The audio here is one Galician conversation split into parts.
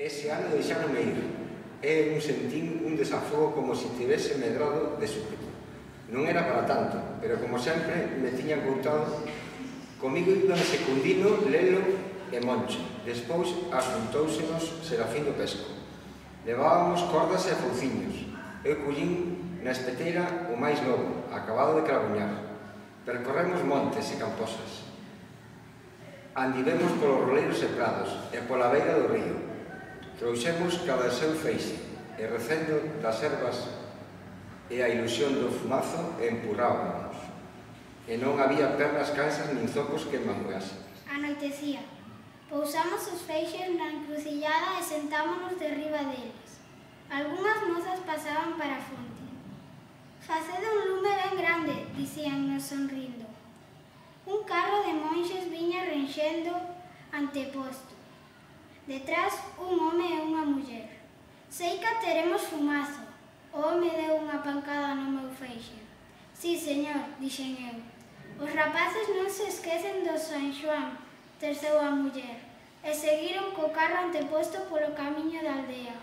Ese ano deixaronme ir. Eu sentín un desafogo como se tivese medrado de súpeto. Non era para tanto, pero como sempre me tiñan contado. Comigo iban Secundino, Lelo e Moncho. Despois apuntóusenos Serafín do Pesco. Levábamos cordas e fouciños. Eu collín na espeteira o máis novo, acabado de crabuñar. Percorremos montes e camposas. Andivemos polos roleiros e prados e pola beira do río. Trouxemos cada seu feixe e recendo das ervas e a ilusión do fumazo empurrábamos. E non había pernas cansas nin zocos que manguasen. Anoitecía. Pousamos os feixes na encrucillada e sentámonos derriba deles. Algunhas mozas pasaban para a fonte. Facede un lume ben grande, dicíannos sonrindo. Un carro de monxes viña renxendo anteposto. Detrás, un home e unha muller. Sei que teremos fumazo. O home deu unha pancada no meu feixe. Sí, señor, dixen eu. Os rapaces non se esquecen do San Xoán, terceu a muller, e seguiron co carro anteposto polo camiño da aldea.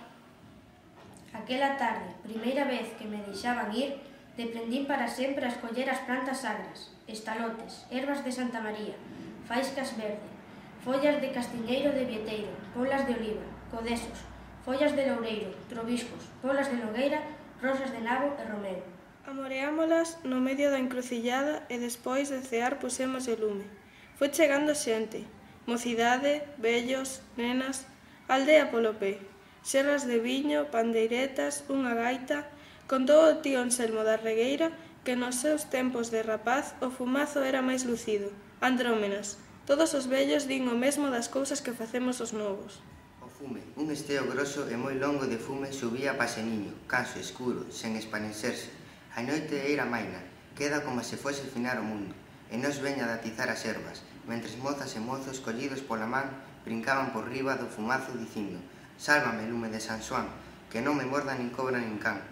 Aquela tarde, primeira vez que me deixaban ir, deprendín para sempre a escoller as plantas sagras, estalotes, ervas de Santa María, faiscas verde, follas de castiñeiro de vieteiro, polas de oliva, codesos, follas de loureiro, trobiscos, polas de nogueira, rosas de nabo e romero. Amoreámolas no medio da encrucillada e despois de cear pusemos o lume. Foi chegando xente, mocidade, vellos, nenas, aldea polo pé, serras de viño, pandeiretas, unha gaita. Contou o tío Anselmo da Regueira que nos seus tempos de rapaz o fumazo era máis lucido. Andrómenas. Todos os vellos din o mesmo das cousas que facemos os novos. O fume, un esteo groso e moi longo de fume subía pa Seniño, caso, escuro, sen espanecerse. A noite era maina, queda como se fose finar o mundo, e nos veña de atizar as ervas, mentres mozas e mozos collidos pola man brincaban por riba do fumazo dicindo: "Sálvame, lume de San Xoán, que non me morda nin cobra nin can".